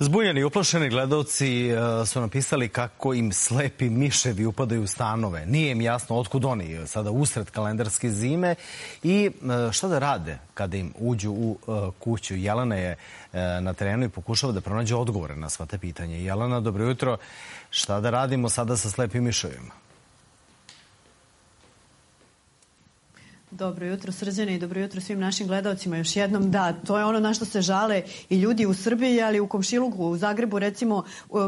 Zbunjeni i uplašeni gledalci su napisali kako im slepi miševi upadaju u stanove. Nije im jasno otkud oni sada usred kalendarske zime i šta da rade kada im uđu u kuću. Jelena je na terenu i pokušava da pronađe odgovore na sva te pitanje. Jelena, dobro jutro. Šta da radimo sada sa slepim miševima? Dobro jutro, Srđane, i dobro jutro svim našim gledalcima. Još jednom, da, to je ono na što se žale i ljudi u Srbiji, ali u komšiluku, u Zagrebu, recimo,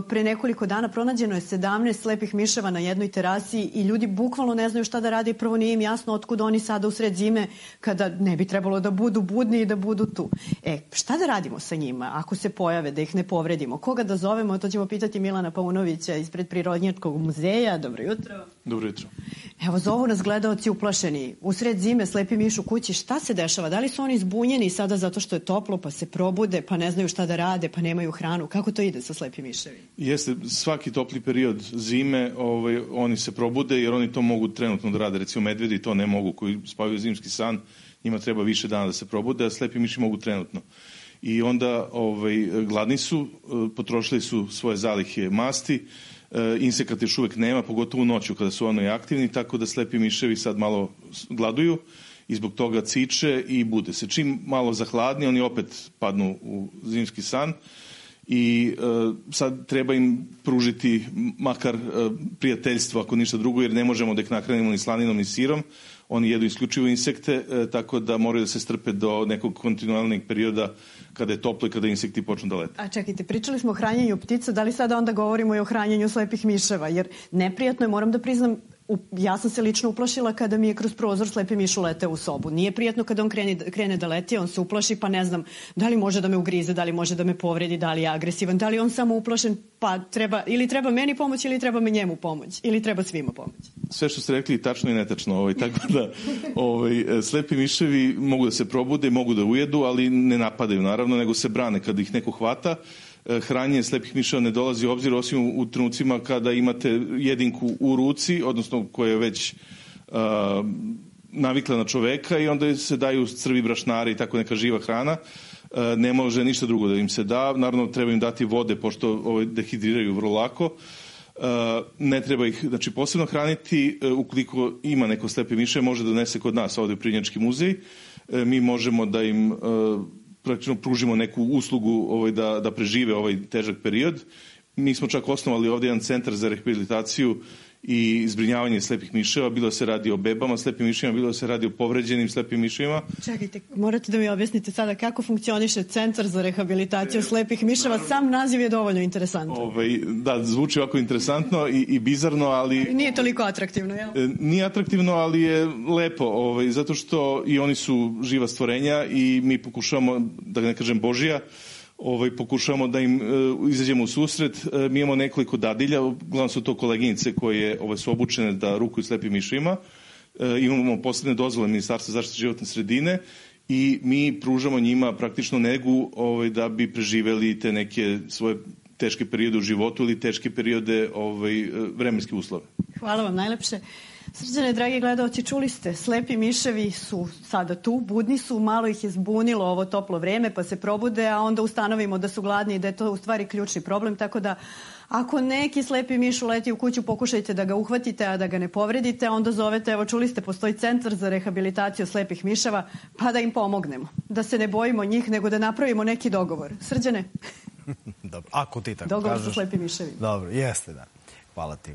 pre nekoliko dana pronađeno je 17 slepih miševa na jednoj terasi i ljudi bukvalno ne znaju šta da rade i prvo nije im jasno otkud oni sada usred zime kada ne bi trebalo da budu budni i da budu tu. Šta da radimo sa njima ako se pojave, da ih ne povredimo? Koga da zovemo? To ćemo pitati Milana Paunovića ispred Prirodnjačkog muzeja. Dobro jutro. Dobro jutro. Evo, zovu nas gledaoci uplašeni. Usred zime slepi miš u kući. Šta se dešava? Da li su oni zbunjeni sada zato što je toplo, pa se probude, pa ne znaju šta da rade, pa nemaju hranu? Kako to ide sa slepim miševima? Jeste, svaki topli period zime oni se probude jer oni to mogu trenutno da rade. Recimo medvedi to ne mogu, koji spavaju zimski san, njima treba više dana da se probude, a slepi miši mogu trenutno. I onda gladni su, potrošili su svoje zalihe masti, insekata još uvek nema, pogotovo u noću kada su oni aktivni, tako da slepi miševi sad malo gladuju i zbog toga ciče i bude se. Čim malo zahladni, oni opet padnu u zimski san i sad treba im pružiti makar prijateljstvo, ako ništa drugo, jer ne možemo da ih nahranimo ni slaninom ni sirom. Oni jedu isključivo insekte, tako da moraju da se strpe do nekog kontinualnog perioda kada je toplo i kada insekti počnu da lete. A čekajte, pričali smo o hranjenju ptica, da li sada onda govorimo i o hranjenju slepih miševa? Jer neprijatno je, moram da priznam, ja sam se lično uplašila kada mi je kroz prozor slepi miš uleteo u sobu. Nije prijatno kada on krene da leti, on se uplaši pa ne znam da li može da me ugrize, da li može da me povredi, da li je agresivan, da li on samo uplašen pa treba meni pomoć ili treba me njemu pomoć ili treba svima pomoć. Sve što ste rekli tačno i netačno, tako da slepi miševi mogu da se probude, mogu da ujedu, ali ne napadaju naravno, nego se brane kada ih neko hvata. Hranjenje slepih miševa ne dolazi u obzir osim u trenucima kada imate jedinku u ruci, odnosno koja je već navikla na čoveka i onda se daju crvi brašnari i tako neka živa hrana. Ne može ništa drugo da im se da. Naravno treba im dati vode pošto dehidriraju vrlo lako. Ne treba ih posebno hraniti. Ukoliko ima neko slepi mišev, može da donese kod nas ovdje u Prirodnjački muzej. Mi možemo da im praktično pružimo neku uslugu da prežive ovaj težak period. Mi smo čak osnovali ovdje jedan centar za rehabilitaciju i zbrinjavanje slepih miševa. Bilo se radi o bebama slepim miševima, bilo se radi o povređenim slepim miševima. Čekajte, morate da mi objasnite sada kako funkcioniše centar za rehabilitaciju slepih miševa. Sam naziv je dovoljno interesantan. Da, zvuči ovako interesantno i bizarno, ali... Nije toliko atraktivno, jel? Nije atraktivno, ali je lepo, zato što i oni su živa stvorenja i mi pokušavamo, da ne kažem Božija, pokušavamo da im izađemo u susret. Mi imamo nekoliko dadilja, uglavnom su to koleginice koje su obučene da rukuju slepim miševima. Imamo posebne dozvole Ministarstva zaštite životne sredine i mi pružamo njima praktično negu da bi preživeli te neke svoje teške periode u životu ili teške periode vremenske uslove. Hvala vam najlepše. Srđane, dragi gledalci, čuli ste, slepi miševi su sada tu, budni su, malo ih je zbunilo ovo toplo vreme pa se probude, a onda ustanovimo da su gladni i da je to u stvari ključni problem, tako da ako neki slepi miš uleti u kuću, pokušajte da ga uhvatite, a da ga ne povredite, onda zovete, evo čuli ste, postoji centar za rehabilitaciju slepih miševa, pa da im pomognemo, da se ne bojimo njih, nego da napravimo neki dogovor. Srđane? Dobro, ako ti tako dogovor kažeš. Sa slepim miševima. Dobro, jeste, da. Hvala ti.